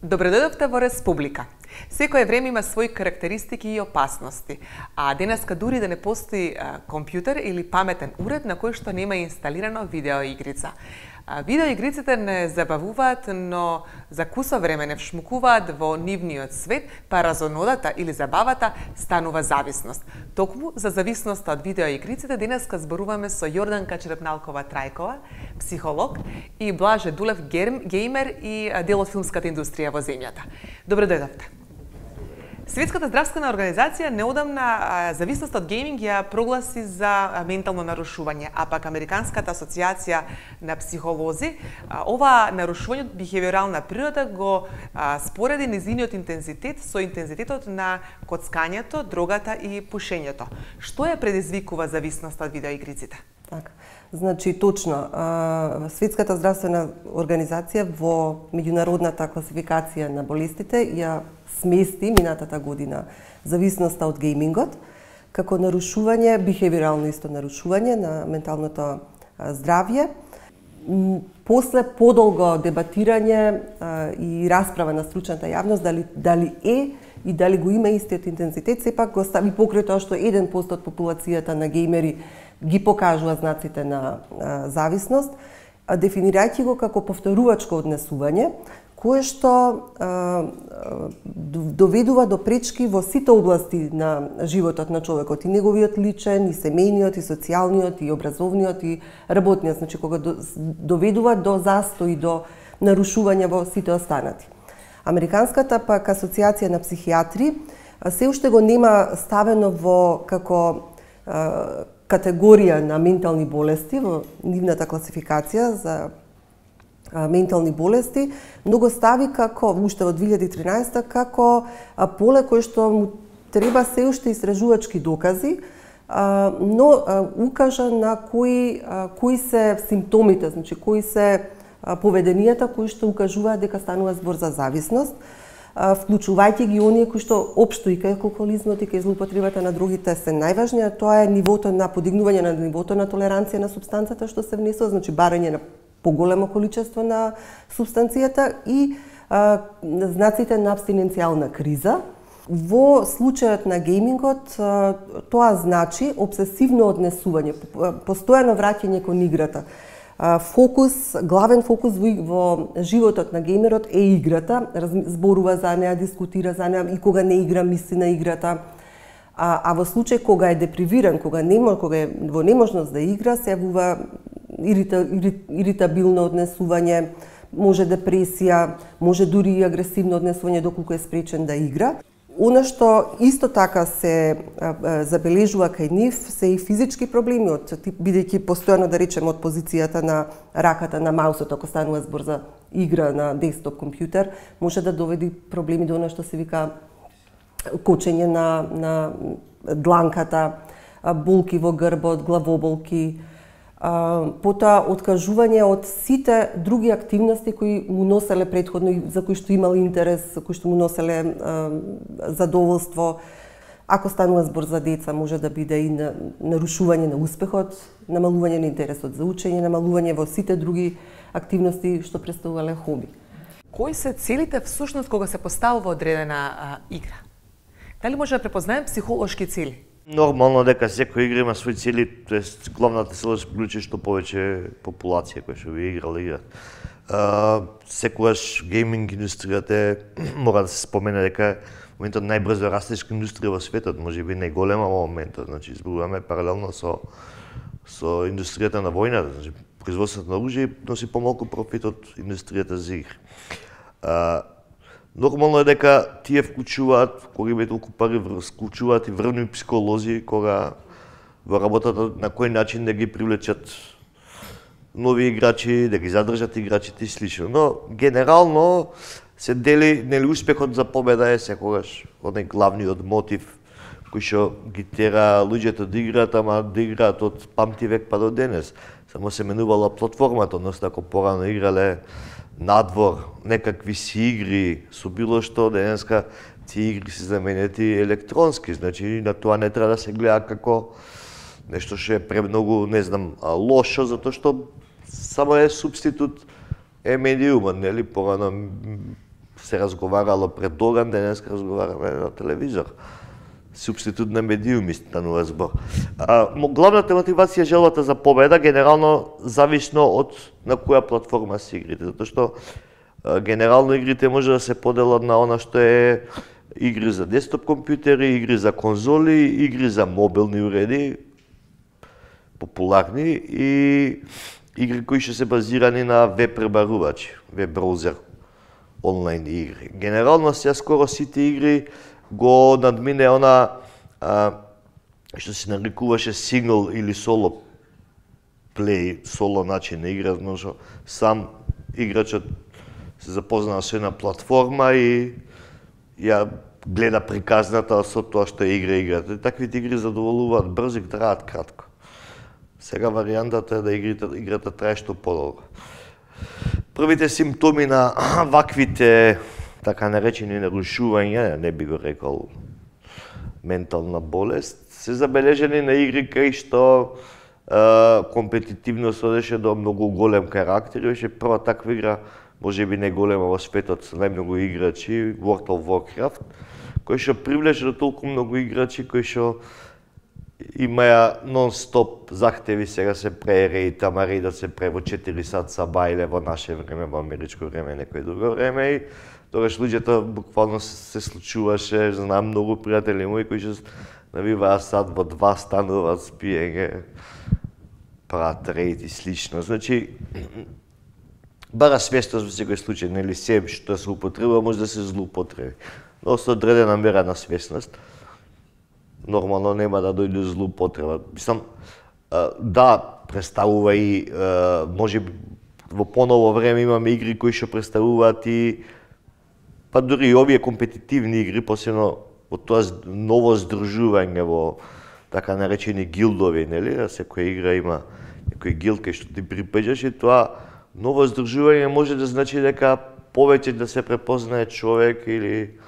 Добредојдовте во Республика. Секое време има своји карактеристики и опасности, а денеска дури да не постои компјутер или паметен уред на кој што нема инсталирано видеоигрица. Видеоигриците не забавуваат, но за кусо време не вшмукуваат во нивниот свет, па разонодата или забавата станува зависност. Токму за зависноста од видеоигриците денеска зборуваме со Јорданка Черепналкова-Трајкова, психолог, и Блаже Дулев, геймер и дел од филмската индустрија во земјата. Добре дојдовте. Светската здравствена организација неодамна зависноста од гейминг ја прогласи за ментално нарушување, а пак Американската асоциација на психолози ова нарушување од бихевиорална природа го спореди низиниот интензитет со интензитетот на коцкањето, дрогата и пушењето. Што ја предизвикува зависноста од видеоигриците? Така. Значи, точно, Светската здравствена организација во меѓународната класификација на болестите ја смести минатата година зависноста од геймингот како нарушување, бихевиорално исто нарушување на менталното здравје. После подолго дебатирање и расправа на стручната јавност дали е и дали го има истиот интензитет, сепак го стави покрај тоа што 1% од популацијата на геймери ги покажува знаците на зависност, дефинирајќи го како повторувачко однесување, кое што доведува до пречки во сите области на животот на човекот, и неговиот личен, и семејниот, и социјалниот, и образовниот, и работниот, значи кога доведува до застој, до нарушување во сите останати. Американската пак асоциација на психијатри се уште го нема ставено во како категорија на ментални болести во нивната класификација за ментални болести, но го стави како уште во 2013 како поле кое што му треба се уште истражувачки докази, но укажа на кои се симптомите, значи кои се поведенијата кои што укажуваат дека станува збор за зависност, вклучувајќи ги оние кои што општо и кај алкохолизмот и кај злоупотребата на другите се најважни, а тоа е нивото на подигнување на нивото на толеранција на супстанцата што се внесува, значи барање на поголемо количество на субстанцијата и знаците на абстиненцијална криза. Во случајот на геймингот тоа значи обсесивно однесување, постојано враќање кон играта. Главен фокус во животот на геймерот е играта, зборува за неа, дискутира за неа, и кога не игра мисли на играта. А во случај кога е депривиран, кога е во неможност да игра, се јавува иритабилно однесување, може депресија, може дури и агресивно однесување доколку е спречен да игра. Она што исто така се забележува кај нив се и физички проблеми, бидејќи постојано, да речеме, од позицијата на раката на маусот, ако станува збор за игра на десктоп компјутер, може да доведи проблеми до она што се вика кочење на дланката, болки во грбот, главоболки, потоа откажување од сите други активности кои му носеле претходно и за кои што имал интерес, кои што му носеле задоволство. Ако станува збор за деца, може да биде и нарушување на успехот, намалување на интересот за учење, намалување во сите други активности што представувале хоби. Кои се целите всушност кога се поставува одредена игра? Дали може да препознаем психолошки цели? Нормално дека секоја игра има своји цели, тоест главната цел е да приклучи што повеќе популација која што би играла игра. Секогаш гейминг индустријата мора да се спомене дека во моментот најбрзо растешка индустрија во светот, можеби најголема во моментот, значи зборуваме паралелно со индустријата на војната, значи производството на оружје носи помалку профит од индустријата за игри. Нормално е дека тие вклучуваат, кога има толку пари, вклучуваат и врвни психолози, кога во работата на кој начин да ги привлечат нови играчи, да ги задржат играчите и слично. Но генерално се дели, нели, успехот за победа е секогаш оној главниот мотив кој што ги тера луѓето да играат, ама да играат од памти век па до денес. Само се менувала платформата, односно ако порано играле надвор, некакви си игри со било што, денеска тие игри се заменети електронски, значи на тоа не треба да се гледа како нешто што е премногу, не знам, лошо, затоа што само е субститут е медиумот, нели, порано се разговарало пред оган, денес разговараме на телевизор. Субститут на медиуми станува збор. Главната мотивација е желбата за победа, генерално зависно од на која платформа се игрите, затоа што генерално игрите може да се поделат на она што е игри за десктоп компјутери, игри за конзоли, игри за мобилни уреди, популарни, и игри кои што се базирани на веб пребарувачи, веб браузер, онлайн игри. Генерално сега скоро сите игри го надмине она што се нарекуваше сингл или соло плей, соло начин на игра, но сам играчот се запознава со една платформа и ја гледа приказната со тоа што игра играта. Таквите игри задоволуваат брзо и траат кратко. Сега варијантата е да играта трае што подолго. Првите симптоми на ваквите така наречени нарушувања, не би го рекол ментална болест, се забележени на игри кај што компетитивност одеше до многу голем карактер. Беше прва таква игра, може би не голема во светот со најмногу играчи, World of Warcraft, кој што привлече до толку многу играчи кои што имаја нон-стоп захтеви сега се пре рейд, ама рейдот се пре во 4 сат са бајле во наше време, во америчко време, некој друго време, и тогаш луѓето буквално се случуваше, знам многу пријатели мои кои што навиваа сад во 2, стануваат спиење, прават рейд и слично. Значи, бара свесност во секој случај, нели се што се употребува може да се злоупотреби. Но со одредена мера на свесност, нормално нема да дојде злоупотреба. Мислам, да, представува и, може би, во поново време имаме игри кои што представуваат и, па дури и овие компетитивни игри, посебно во тоа ново здружување во така наречени гилдови, нели? Секоја игра има некој гилд кај што ти припаѓаш и тоа ново здружување може да значи дека повеќе да се препознае човек или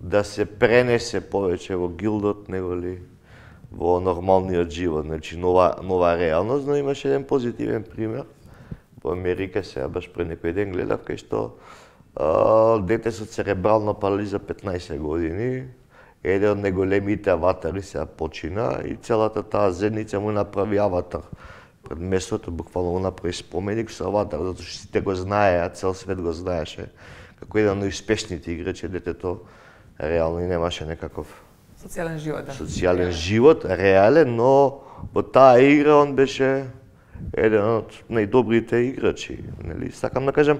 да се пренесе повеќе во гилдот него ли во нормалниот живот, значи нова реалност, но имаше еден позитивен пример во Америка, сега баш пред некој ден гледав кај што дете со церебрална парализа 15 години, еден од најголемите аватари сега почина и целата таа заедница му направи аватар пред местото, буквално го направи споменик со аватар, затоа што сите го знаеа, цел свет го знаеше, како еден од најуспешните играчи, детето реално и немаше некаков социјален живот, да. Социјален живот, реален, но во таа игра он беше еден од најдобрите играчи, нели? Сакам да кажам,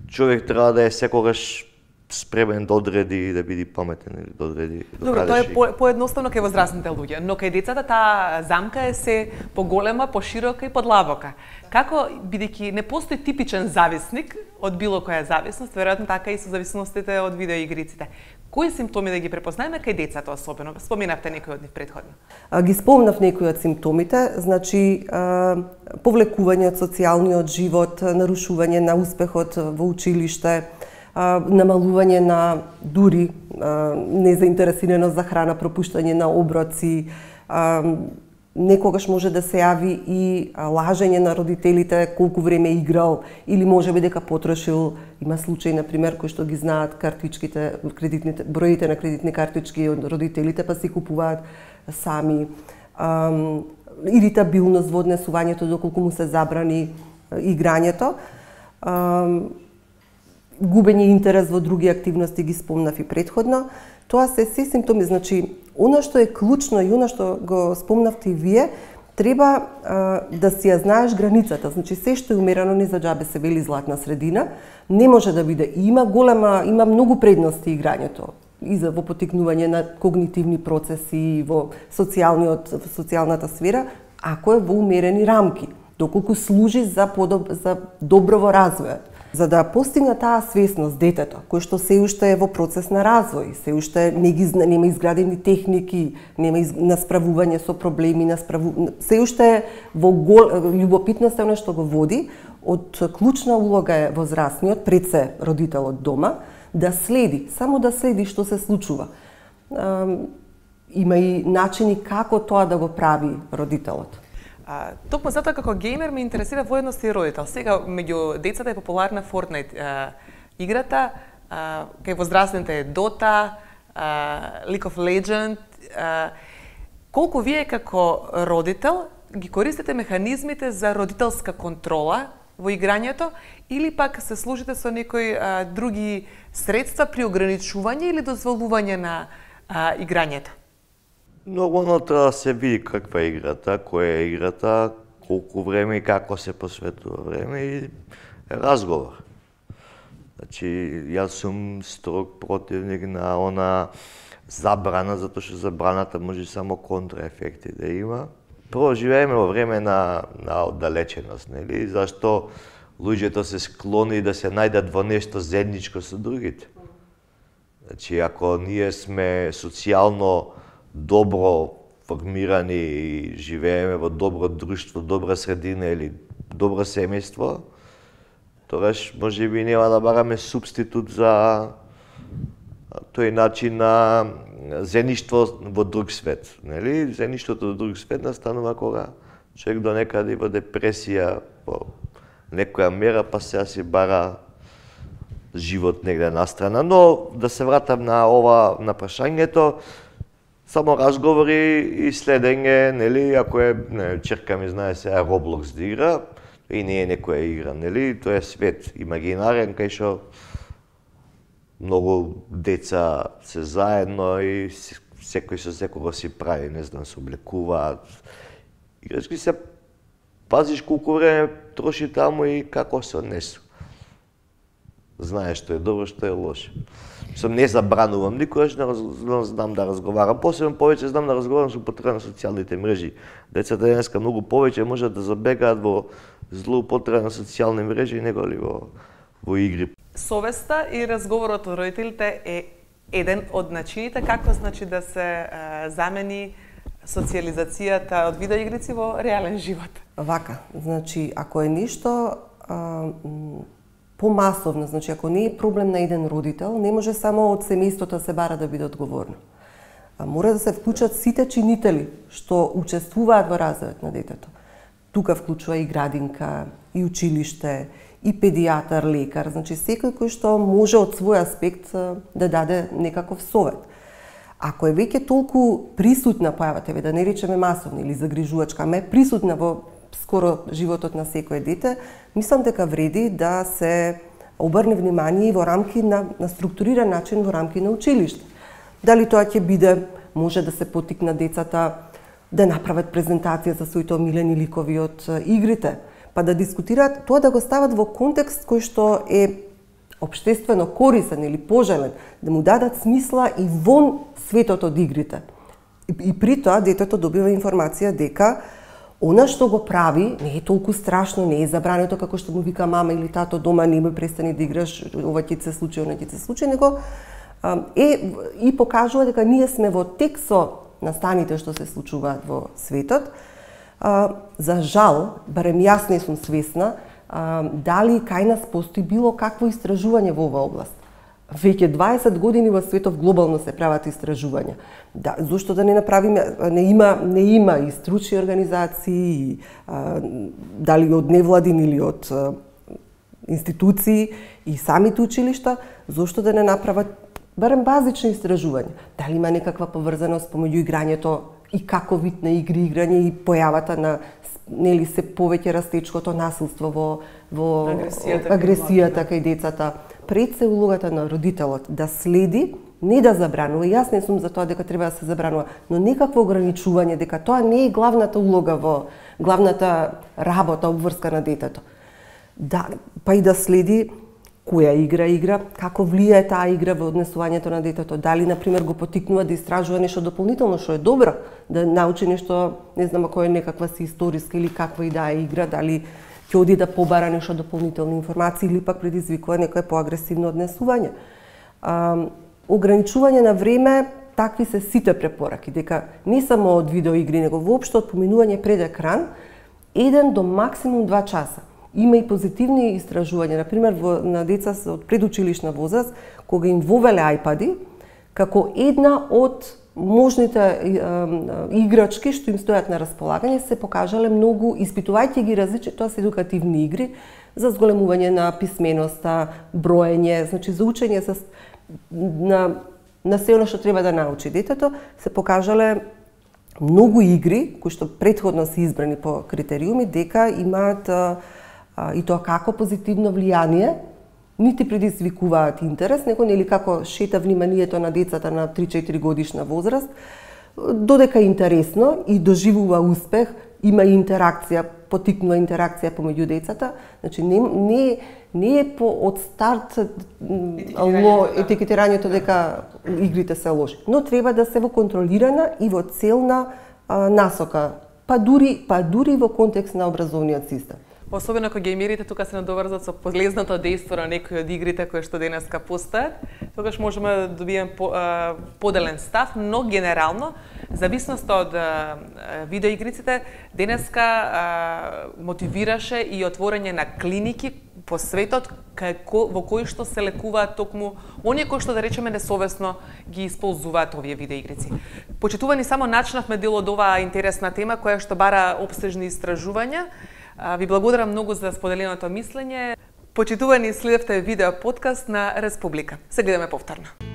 човек треба да е секогаш спремен да одреди и да биде паметен или да одреди. Добро, тоа е поедноставно кај возрастните луѓе, но кај децата таа замка е се поголема, поширока и подлабока. Како, бидејќи не постои типичен зависник од било која зависност, веројатно така и со зависностите од видеоигриците. Кои симптоми да ги препознаеме кај децата особено? Споменавте некои од нив претходно. Ги спомнав некои од симптомите, значи повлекување од социјалниот живот, нарушување на успехот во училиште, намалување на дури незаинтересираност за храна, пропуштање на оброци, некогаш може да се јави и лажење на родителите колку време играл или можеби дека потрошил. Има случаи, например, кои што ги знаат картичките, кредитните, броите на кредитни картички од родителите, па си купуваат сами. Иритабилност во однесувањето доколку му се забрани играњето. Губење интерес во други активности ги спомнав и претходно. Тоа се симптоми, значи, она што е клучно и она што го спомнавте и вие, треба да си ја знаеш границата. Значи, се што е умерено не за џабе се вели златна средина, не може да биде. Има многу предности играњето и за во потикнување на когнитивни процеси во социјалната сфера, ако е во умерени рамки, доколку служи за доброво развојот. За да постигне таа свесност детето, кој што се уште е во процес на развој, се уште нема изградени техники, нема насправување со проблеми, се уште е во љубопитноста она што го води, од клучна улога е возрастниот, пред се родителот дома, да следи, само да следи што се случува. Има и начини како тоа да го прави родителот. Токму затоа како геймер ме интересира воедност и родител. Сега меѓу децата е популарна Fortnite играта. кај возрастните е Dota, League of Legends. Колку вие како родител ги користите механизмите за родителска контрола во играњето или пак се служите со некои други средства при ограничување или дозволување на играњето? Нормално треба да се види каква е играта, која е играта, колку време и како се посветува време и разговор. Значи, јас сум строг противник на она забрана, затоа што забраната може само контраефекти да има. Прво живееме во време на оддалеченост, нели? Зашто луѓето се склони да се најдат во нешто заедничко со другите. Значи, ако ние сме социјално добро формирани и живееме во добро друштво, добра средина или добро семејство, тогаш можеби нема да бараме субститут за тој начин на заедништво во друг свет, нели? Заедништвото во друг свет настанува кога човек до некаде во депресија, по некоја мера, па сега си бара живот негде настрана. Но да се вратам на прашањето, само разговори и следење, нели, ако е, черка ми знае сега Roblox да игра, и не е некоја игра, нели, тоа е свет имагинарен кај што многу деца се заедно и секој со секого си прави, не знам, се облекуваат. Играчки се пазиш колку време троши таму и како се однесу. Знаеш што е добро, што е лошо. Не забранувам никогаш, не знам да разговарам. Посебно повеќе знам да разговарам со употреба на социјалните мрежи. Децата денеска многу повеќе можат да забегаат во злоупотреба на социјални мрежи него ли во игри. Совеста и разговорот од родителите е еден од начините како значи да се замени социјализацијата од видеоигрици во реален живот. Вака, значи ако е ништо помасовно, значи ако не е проблем на еден родител, не може само од семејството се бара да биде одговорно. Мора да се вклучат сите чинители што учествуваат во развојот на детето. Тука вклучува и градинка, и училиште, и педијатар, лекар, значи секој кој што може од свој аспект да даде некаков совет. Ако е веќе толку присутна појавата, да не речеме масовна или загрижувачка, ама е присутна во скоро животот на секое дете, мислам дека вреди да се обрне внимание во рамки на структуриран начин во рамки на училиште. Дали тоа ќе биде, може да се потикна децата да направат презентација за своите омилени ликови од игрите, па да дискутираат, тоа да го стават во контекст кој што е општествено корисен или пожелен, да му дадат смисла и вон светот од игрите. И при тоа детето добива информација дека она што го прави не е толку страшно, не е забрането како што му вика мама или тато дома, немој престани да играш, ова ќе се случи, она ќе се случи, него и покажува дека ние сме во тек со настаните што се случуваат во светот. За жал, барем јас не сум свесна, дали кај нас постои било какво истражување во оваа област. Веќе 20 години во светов глобално се прават истражувања. Да, зошто да не направиме, не има и стручни организации, дали од невладин или од институции и самите училишта, зошто да не направат барем базични истражувања. Дали има некаква поврзаност помеѓу играњето и како вид на игри играње и појавата на нели се повеќе растечкото насилство во агресијата кај децата. Пред се улогата на родителот да следи, не да забранува. Јас не сум за тоа дека треба да се забранува, но некакво ограничување, дека тоа не е главната улога во главната работа обврска на детето. Да, па и да следи која игра, како влијае таа игра во однесувањето на детето, дали на пример го потикнува да истражува нешто дополнително што е добро, да научи нешто, не знам ако е некаква си историска или каква и да е игра, дали ќе оди да побара нешто дополнителни информации или пак предизвикува некое поагресивно однесување. Ограничување на време, такви се сите препораки, дека не само од видеоигри, него воопшто од поминување пред екран, 1 до максимум 2 часа. Има и позитивни истражувања, например на деца од предучилишна возраст, кога им вовеле ајпади, како една од можните играчки што им стојат на располагање, се покажале многу, испитувајќи ги различни, тоа се едукативни игри за зголемување на писменоста, броење, значи за учење на се оно што треба да научи детето, се покажале многу игри кои што претходно се избрани по критериуми дека имаат и тоа како позитивно влијание, нити предизвикуваат интерес, него нели како шета вниманието на децата на 3-4 годишна возраст, додека е интересно и доживува успех, има интеракција, потикнува интеракција помеѓу децата, значи не е од старт етикетирањето дека игрите се лоши, но треба да се во контролирана и во целна насока, па дури во контекст на образовниот систем. Особено кога геймерите тука се надоврзат со полезното дејство на некои од игрите кои што денеска постојат, тогаш можеме да добиеме поделен став, но генерално, зависност од видеоигриците, денеска мотивираше и отворање на клиники по светот во кои што се лекуваат токму оние кои што, да речеме, несовесно ги исползуваат овие видеоигрици. Почитувани само начнавме дел од оваа интересна тема која што бара опстежни истражувања. Ви благодарам многу за споделеното мислење. Почитувани, следевте видео подкаст на Република. Се гледаме повторно.